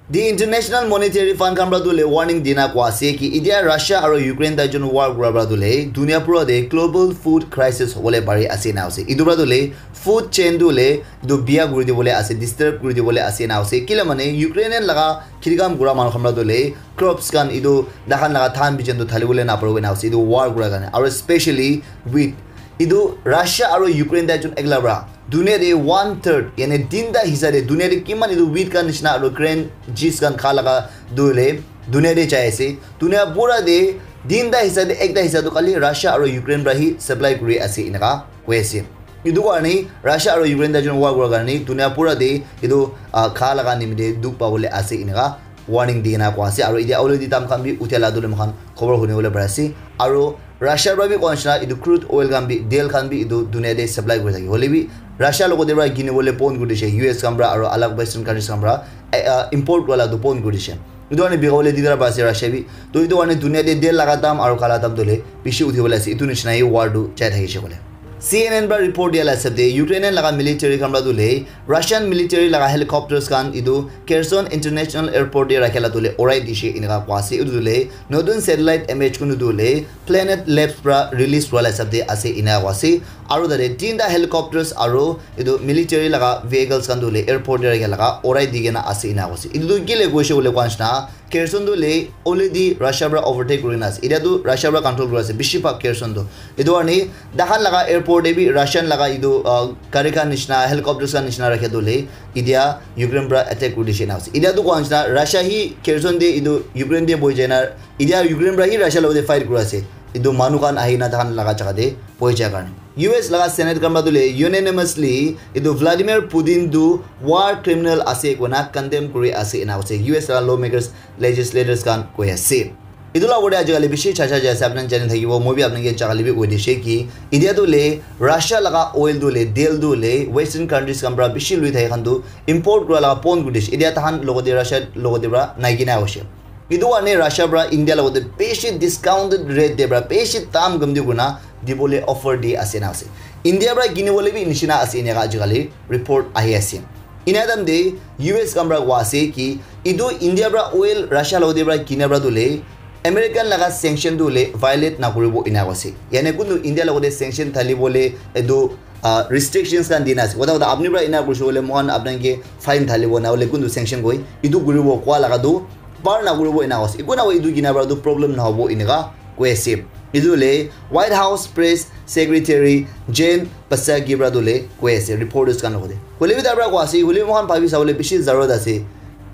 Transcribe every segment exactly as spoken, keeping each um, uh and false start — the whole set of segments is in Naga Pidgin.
The International Monetary Fund khan pra tu le warning dina kwa ase ki itia Russia aro Ukraine tai jun war kura pra tu le dunia pura de global food crisis hobole pari ase na ase. Itu pra tu le food chain tu le itu biya kuri dibole ase, disturb kuri dibole ase na ase. Kila mane Ukrainian laga khirikam kura manu khan pra tu le crops khan itu dahan laga than bijan tu thali bole na paribo na ase. Itu war kura karne. Aro especially wheat. Itu Russia aro Ukraine tai jun ekla pra dunia de one third, yani tinta hisa de dunia de kiman itu wheat khan nishina aro grain, jis khan kha laga dule dunia de jai ase. Dunia pura de tinta hisa de ekta hisa tu khali Russia aro Ukraine pra hi supply kuri ase inaka koi ase. Itu karne Russia aro Ukraine tai jun war kura karne dunia pura de itu, ah, kha laga nimite dukh pabole ase inaka warning di kena koa ase. Aro etia already dam khan bi uthia la dule moikhan khobor huni bole pari ase. Aro Russia pra bi koa nishina etu crude oil khan bi, tel khan bi etu dunia te supply kuri thake. Hoile bi Russia logote pra kini bole bon kuri dishe, U S khan pra aro alag western countries khan pra, eh, ah, import kura la tu bon kuri dishe. Etu karne bika bole didar pa ase Russia bi. To etu karne dunia te tel laga dam aro kha la dam dule bishi uthi bole ase. Etu nishina hi war tu jai thakishe kole. C N N pra report dia la hisab te Ukrainian laga military khan pra tu le Russian military laga helicopters khan etu Kherson International Airport te rakhe la tu le urai dishe inaka koa ase. Etu tu le notun satellite image kunu tu le Planet Labs pra release kura la hisab te ase ina koa ase. Aro tate tinta helicopters aro etu military laga vehicles khan tu le airport te rakhe laga urai di kena ase ina koa ase. Etu tu kile koishe kole koa nishina Kherson tu le already Russia pra overtake kuri na ase. Etia tu Russia pra control kuri ase. Bishi bhag Kherson tu. Etu karne dahan laga airport te bi Russian laga etu, ah, gari khan nishina, helicopters khan nishina rakhe tu le etia Ukraine pra attack kuri dishe na ase. Etia tu koa nishina Russia hi Kherson te etu Ukraine te bohi jai na, etia Ukraine pra hi Russia logote fight kuri ase. Etu manu khan ahi na dahan laga jaga te bohi jai karne. U S laga Senate khan pra tu le unanimously etu Vladimir Putin tu war criminal ase koina condemn kuri ase ena ase U S laga lawmakers, legislators khan koi ase. Etu la ugor te ajikali bishi chacha jai ase, apni khan jani thakibo, moi bi apni khan ke jagale bi koi dishe ki etia tu le Russia laga oil tu le, tel tu le western countries khan pra bishi lui thake khan tu import kura laga bon kuri dishe. Etia tahan logote Russia logote pra nai kena hoishe. Etu karne Russia pra India logote bishi discounted rate te pra bishi dam kam di kurina dibole offer di ase na ase. India pra kini bole bi nishina ase inaka ajikali report ahi ase. Ina time te U S khan pra koa ase ki etu India pra oil Russia logote pra kina pra tu le American laga sanction tu le violate na kuribo ina koa ase. Yani kuntu India logote sanction thali bole etu, ah, restrictions khan dina ase. Kotha kotha apni pra ina kurishe bole moikhan apni khan ke fine thalibo na hole kuntu sanction koi. Etu kuribo koa laga tu bar na kuribo ina koa ase. Eku na koi etu kina pra tu problem na hobo inaka koi ase. Etu le White House Press Secretary Jen Psaki pra tu le koi ase reporters khan logote. Hole bi tar pra koa ase, hole bi moikhan bhabi sabole bishi zarurat ase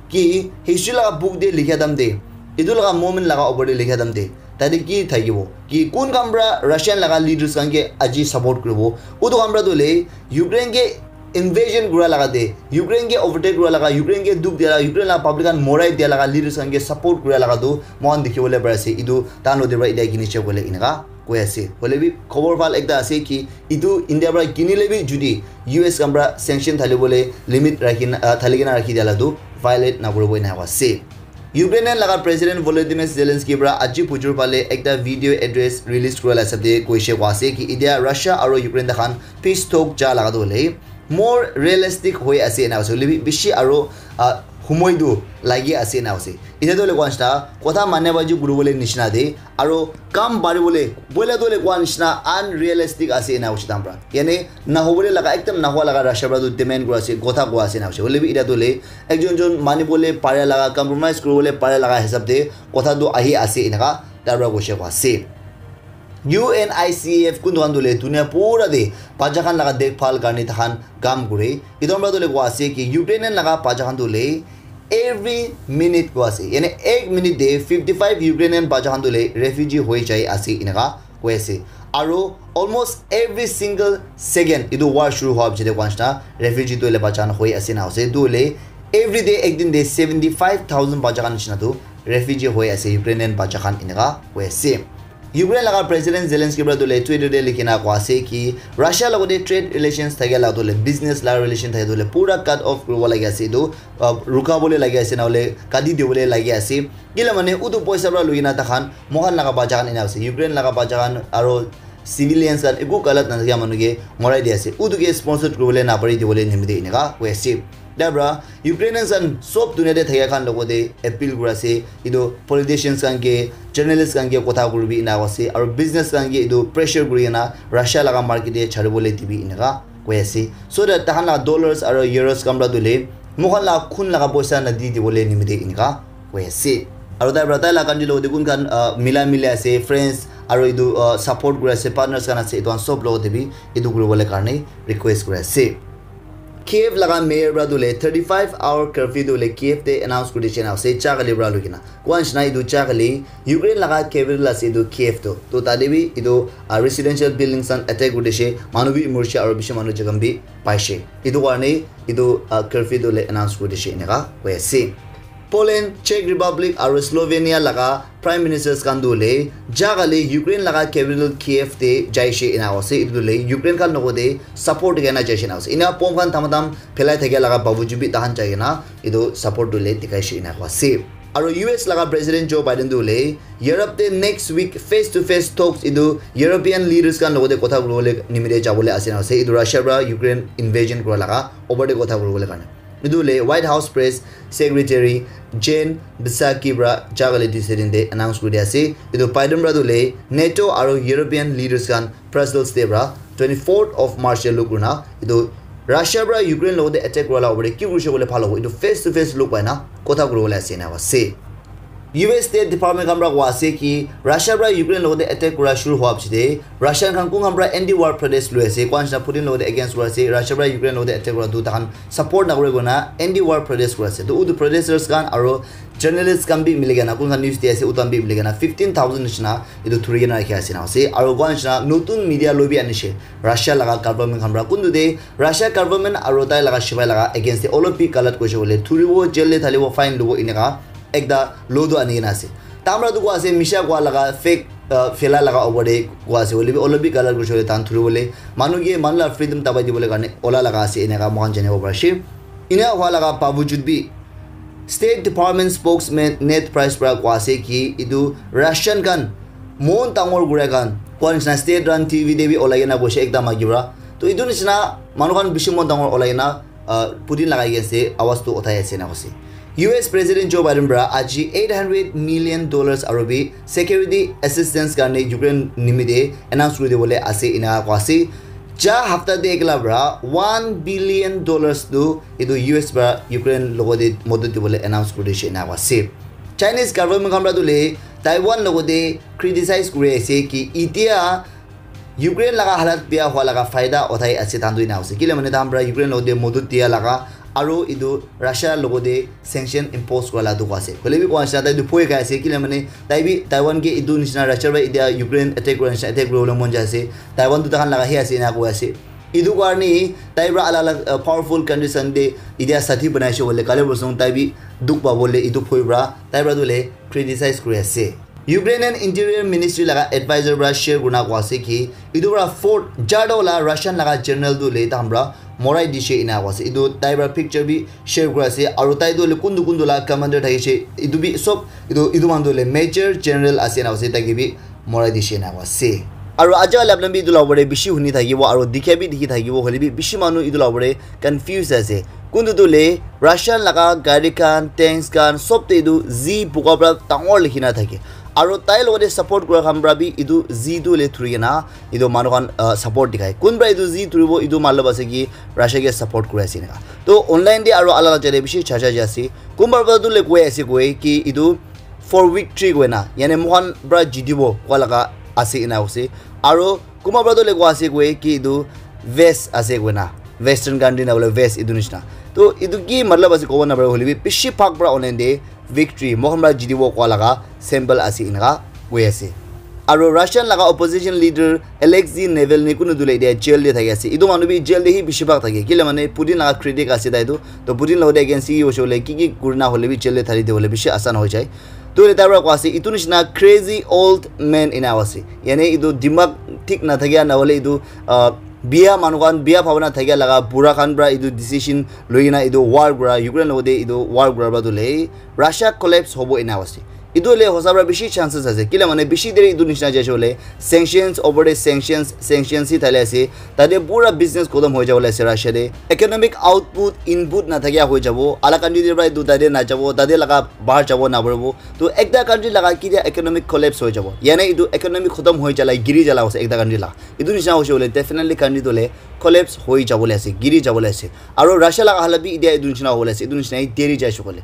ki history laga book te likha time te, etu laga moment laga upor te likha time te, tate ki thakibo ki kun khan pra Russian laga leaders khan ke aji support kuribo. Utu khan pra tu le Ukraine ke invasion kura laga te, Ukraine ke overtake kura laga, Ukraine ke dukh dia laga, Ukraine laga public khan morai dia laga leaders khan ke support kura laga tu moikhan dikhi bole pari ase. Etu tahan logote pra etia kini che koile inaka koi ase. Hole bi khobor bhal ekta ase ki etu India pra kinile bi judi U S khan pra sanction thali bole limit rakhi na, ah, thali kena rakhi dia la tu violate na kuribo ina koa ase. Ukrainian laga President Volodymyr Zelensky pra aji bujur phale ekta video address release kura la hisab te koishe koa ase ki etia Russia aro Ukraine takhan peace talk ja laga tu hoile more realistic hoi ase ena ase. Hoile bi bishi aro, ah, humoi tu lagi ase ena ase. Etia tu hoile koa nishina kotha mane baji kuri bole nishina de aro kam bari bole boila tu hoile koa nishina unrealistic ase ena hoise tam pra. Yani na hobole laga ekdam na hoa laga Russia pra tu demand kura ase, kotha koa ase ena hoise. Hoile bi etia tu hoile ekjon jon mani bole pare laga, compromise kuri bole pare laga hisab te kotha tu ahi ase enaka tar pra koishe koa ase. U N I C F kuntu khan tu le dunia pura te bacha khan laga dekhbhal karne takhan kam kure. Etu khan pra tu le koa ase ki Ukrainian laga bacha khan tu le every minute koa ase. Yani ek minute te fifty five Ukrainian bacha khan tu le refugee hoi jai ase enaka koi ase. Aro almost every single second etu war shuru hoa piche te koa nishina refugee tu le bacha khan hoi ase na ase. Tu le every day ek din te seventy five thousand bacha khan nishina tu refugee hoi ase Ukrainian bacha khan enaka koi ase. Ukraine laga President Zelensky pra tu le Twitter te likhi na koa ase ki Russia logote trade relations thakia la tu le business la relation thakia tu le pura cut off kuribo lagi ase etu, uh, ruka bole lagi ase na hole kati dibole lagi ase. Kila mane utu poisa pra lui na takhan moikhan laga bacha khan ena ase, Ukraine laga bacha khan aro civilians khan eku galat na thakia manu ke morai di ase. Utu ke sponsor kuribole na pari dibole nimite enaka koi ase. Tar para Ukrainians khan sob dunia te thakia khan logote appeal kuri ase, etu politicians khan ke, journalists khan ke kotha kuribi ena ase, aru business khan ke etu pressure kuri kena Russia laga market te chari bole dibi eneka koi ase, so that tahan la dollars aru euros khan para dule moikhan la khun laga poisa na di dibole nimite eneka koi ase. Aru tai para tai la country logote kun khan, ah, mila mili ase, friends aru etu, ah, support kuri ase, partners khan ase, etu khan sob logote bi etu kuri bole karne request kuri ase. Kiev laga mayor para tu le thirty-five hour curfew tu le Kiev te announce kuri dise na ase, cha kali para lui kena. Kua nishina etu cha kali Ukraine laga capital ase etu Kiev tu. To tate bi etu, ah, residential buildings khan attack kuri dise, manu bi morise aru bishi manu jakham bi paise. Etu karne etu, ah, curfew tu le announce kuri dise eneka koi ase. Poland, Czech Republic aru Slovenia laga prime ministers khan tu le ja kali Ukraine laga capital Kiev te jaise ena ase. Etu tu le Ukraine khan logote support dikhai na jaise ena ase. Ena bomb khan tamatam phelai thakia laga babuju bi tahan jai kena etu support tu le dikhaise ena ase. Aru U S laga president Joe Biden tu le Europe te next week face to face talks etu European leaders khan logote kotha kuribole nimite jabole ase ena ase. Etu Russia para Ukraine invasion kura laga over te kotha kuribole karne. Etu le White House Press Secretary Jen Psaki para ja kali Tuesday din te announce kuri ase. Etu Biden para tu le NATO aru European leaders khan Brussels te para twenty-fourth of March te luk kurina etu Russia para Ukraine logote attack kura la over te ki kurise bole bhal hobo, etu face to face luk pai na kotha kuribole ase ena ase. U S State Department khan para koa ase ki Russia para Ukraine logote attack kura shuru hoa piche te Russian khan kun khan para anti war protest lui ase, kua nishina Putin logote against kura ase, Russia para Ukraine logote attack kura tu takhan support nakuri kena anti war protest kura ase. To utu protesters khan aru journalists khan bi mili kena kun khan news di ase, utu khan bi mili kena fifteen thousand nishina etu thuri kena rakhi ase na ase. Aru kua nishina notun media lobby anishe Russia laga government khan para, kuntu te Russia government aru tai laga shipai laga against te olop bi galat koise bole thuribo, jail te thalibo, fine lobo eneka ekta law tu ani kena ase. Tamra tu kua ase, misha kua laga, fake, uh, fela laga over te kua ase, hoile bi olop bi galat koise bole tan thuri bole, manu ke manu la freedom dabai dibole karne ola laga ase, eneka moikhan janibo pari ase. Ena hua laga bawajud bi, State Department spokesman Ned Price para kua ase ki etu Russian khan mon dangor kura khan kua nishina state run T V te bi olai kena koise ekta maki para. To etu nishina manu khan bishi mon dangor olai kena, uh, Putin lagai ase, awaz tu uthai ase na koise. U S President Joe Biden para aji eight hundred million dollars aru bi security assistance karne Ukraine nimite announce kuri dibole ase ena kua ase. Ja hafta te ekla para one billion dollars tu etu U S para Ukraine logote modot dibole announce kuri dishe ena kua ase. Chinese government khan para tu le Taiwan logote criticize kuri ase ki itia Ukraine laga halat bia hua laga faida uthai ase tantu ena ase. Kile mane tahan para Ukraine logote modot dia laga aru etu Russia logote sanction impose kura la dukh ase. Hoile bi kua nishina tai tu bhoi khai ase, kile mane tai bi Taiwan ke etu nishina Russia para itia Ukraine attack kura nishina attack kuribole mon jai ase. Taiwan tu tahan laga he ase ena koi ase. Etu karne tai para alag alag, uh, powerful countries khan te itia sathi banaise bole kale bosong tai bi dukh pabole etu bhoi para tai para tu le criticize kuri ase. Ukrainian Interior Ministry laga advisor para share kurina kua ase ki etu para fort jarta wala Russian laga general tu le tahan para morai dishe ena kua ase. Etu tai para picture bi share kura ase aru tai tu le kuntu kuntu la commander thakishe etu bi sob etu etu manu tu le major general ase ena kua ase, tai ke bi morai dishe ena kua ase. Aru aja wala apna bi etu la upor te bishi huni thakibo aru dikha bi dikhi thakibo, hoile bi bishi manu etu la upor te confuse ase. Kuntu tu le Russian laga gari khan, tanks khan, sob te etu Z buga para dangor likhi na thake. Aru tai logote support kura khan para bi etu Z tu le thuri kena etu manu khan, uh, support dikhai. Kun para etu Z thuribo etu matlab ase ki Russia ke support kuri ase eneka. To online te aru alag alag jai te bishi chacha jai ase. Kunba para tu le koi ase koi ki etu for victory koi na, yani moikhan para jitibo kua laga ase ena koi ase. Aru kunba para tu le kua ase koi ki etu West ase koi na, Western country na bole West etu nishina. To etu ki matlab ase kobo na pare, hoile bi bishi bhag para online te victory, moikhan para jitibo kua laga symbol ase eneka koi ase. Aru Russian laga opposition leader Alexei Navalny kunu tu le etia jail te thaki ase. Etu manu bi jail te hi bishi bhag thake. Kile mane Putin laga critic ase tai tu. To Putin logote against hi hoise bole ki ki kurina hole bi jail te thali dibole bishi asan hoi jai. To etu para kua ase, etu nishina crazy old man ena ase. Yani etu dimag thik na thakia na hole etu, uh, bia manu khan, bia bhabana thakia laga bura khan para etu decision loi kena etu war kura, Ukraine logote etu war kura para tu le Russia collapse hobo ena ase. Etu hoile hosa para bishi chances ase. Kila mane bishi deri etu nishina jaise hoile sanctions over the sanctions, sanctions hi thale ase. Tate pura business khotom hoi jabo le ase Russia te. Economic output, input na thakia hoi jabo. Ala country te para etu tate na jabo, tate laga bahar jabo na paribo. To ekta country laga kitia economic collapse hoi jabo. Yane etu economic khotom hoi jala, giri jala ase ekta country laga. Etu nishina hoise hoile definitely country to le collapse hoi jabo le ase, giri jabo le ase. Aro Russia laga hala bi itia etu nishina hobo le ase, etu nishina hi deri jaise koile.